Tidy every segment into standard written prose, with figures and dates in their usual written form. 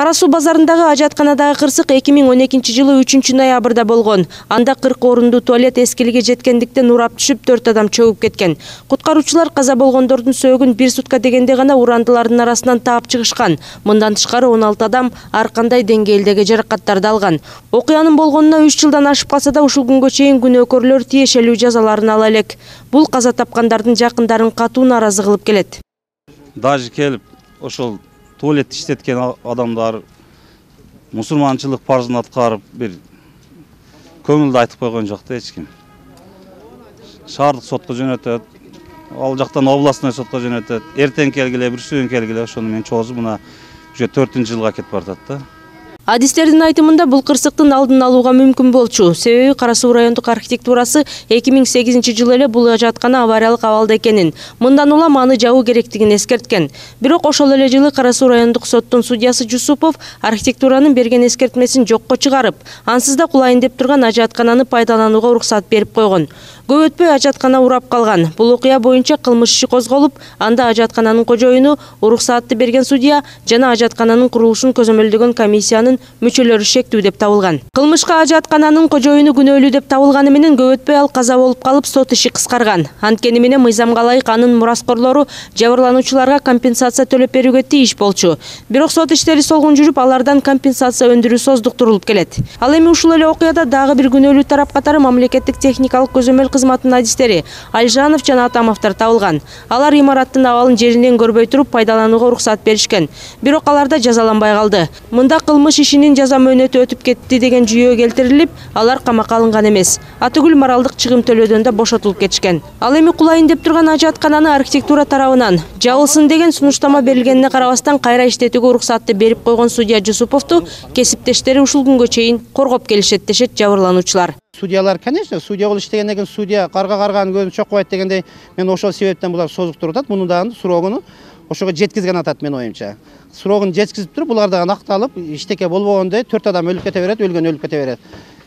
Кара Суу базарындагы ажатканадагы кырсык 2012-жылы 3-ноябрда болгон. Анда 40 орундуу туалет эскилиге жеткендиктен урап түшүп 4 адам чөгүп кеткен. Куткаруучулар каза болгондордун сөөгүн 1 сутка дегенде гана урандылардын арасынан таап чыгышкан. Мындан тышкары 16 адам ар кандай деңгээлдеги жаракаттарды алган. Окуянын болгонуна 3 жылдан ашып калса да ушул күнгө чейин күнөөкөрлөр тиешелүү жазаларын ала элек. Бул каза тапкандардын жакындарын катуу нааразы кылып келет. Даже келип ошол туалет иштеткен адамдар мусулманчылык парзын аткарып бир көңүлдү айтып койгон жок да эч ким. Шаардык сотко жөнөтөт, ал жактан областной сотко жөнөтөт. Эртең келгиле, бүрсүгүн келгиле, ошону менен чоозу мына уже 4-жылга кетип баратат да. Адистердин айтымында бул кырсыктын алдын алууга мүмкүн болчу. Себеби Кара Суу райондук архитектурасы 2008-жылы эле бул ажаткана авариялык абалда экенин, мындан улам аны жабуу керектигин эскерткен. Бирок ошол эле жылы Кара Суу райондук соттун судьясы Жусупов архитектуранын берген эскертмесин жокко чыгарып, ансыз да кулайын деп турган ажаткананы пайдаланууга уруксат берип койгон. Көп өтпөй ажаткана урап калган. Бул окуя боюнча кылмыш иши козголуп, анда ажаткананын кожоюну, уруксаатты берген судья жана ажаткананын курулушун көзөмөлдөгөн комиссиянын мүчөлөрү шектүү деп табылган. Кылмышка ажаткананын кожоюну күнөөлүү деп табылганы менен көп өтпөй ал каза болуп калып сот иши кыскарган. Анткени менен мыйзамга ылайык анын мураскорлору жабырлануучуларга компенсация төлөп берүүгө тийиш болчу. Бирок сот иштери солгун жүрүп, алардан компенсация өндүрүү создуктурулуп келет. Ал эми ушул эле окуяда дагы бир күнөөлүү тарап катары мамлекеттик техникалык көзөмөл кызматынын адистери Алжанов жана Атамовдор табылган. Алар имараттын абалын жеринен көрбөй туруп пайдаланууга уруксат беришкен. Бирок алар да жазаланбай калды. Мында кылмыш ишинин жаза мөөнөтү өтүп кетти деген жүйө келтирилип, алар камакка алынган эмес. Атүгүл моралдык чыгым төлөөдөн да бошотулуп кетишкен. Ал эми кулайын деп турган ажаткананы архитектура тарабынан жабылсын деген сунуштама берилгенине карабастан кайра иштетүүгө уруксатты берип койгон судья Жусуповду кесиптештери ушул күнгө чейин коргоп келишет дешет жабырлануучулар. Судьялар, конечно, судья болуп иштегенден кийин судья карга-карганын көзүн чокпойт дегендей, мен ошол себептен булар созуктуруп атат. Муну дагы срогуну ошого жеткизген атат менин оюмча. Срогун жеткизип туруп, булар дагы акталып, иштеке болбогондой 4 адам өлүп кете берет, өлгөн өлүп кете берет.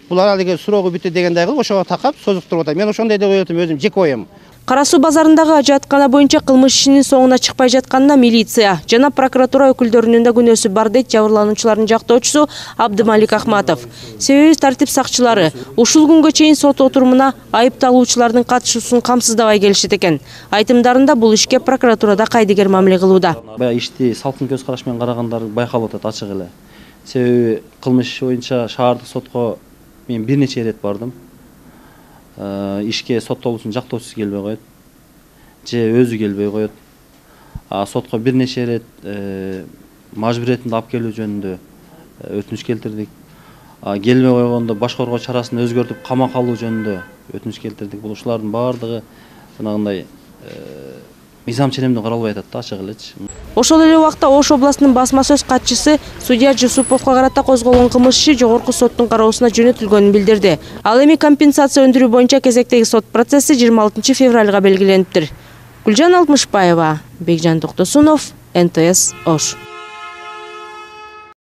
Булар алиги срогу бүтү дегендей кылып ошого такап созуктуруп атат. Мен ошондой деп ойлойм, өзүм жеке оюм. Кара Суу базарындагы ажаткана боюнча кылмыш ишинин соңуна чыкпай жатканына милиция жана прокуратура өкүлдөрүнүн да күнөөсү бар дейт жабырлануучулардын жактоочусу Абдымалик Ахматов. Себеби тартип сакчылары ушул күнгө чейин сот отурумуна айыпталуучулардын катышуусун камсыздабай келишет экен. Айтымдарында бул ишке прокуратурада кайдыгер мамиле кылууда. Баягы ишти салкын көз караш менен карагандар байкалып атат ачык эле. Себеби кылмыш иши боюнча шаардык сотко мен бир нече ирет бардым. Ишке соттолуусун жактоочусу келбей коет, же өзү келбей коет. Сотко бир нече ирет мажбуриятында алып келүү жөнүндө өтүнүч келтирдик. Келбей койгондо баш коргоо чарасын өзгөртүп камакка алуу жөнүндө өтүнүч келтирдик. Бул ушулардын баардыгы жанагындай мыйзам ченемден каралбай атат да, ачык элечи. Ошол эле убакта Ош областынын басма сөз катчысы судья Жусуповго карата козголгон кылмыш иши жогорку соттун кароосуна жөнөтүлгөнүн билдирди. Ал эми компенсация өндүрүү боюнча кезектеги сот процесси 26 февралга белгилениптир. Гүлжан Алтмышбаева, Бекжан Токтосунов, НТС Ош.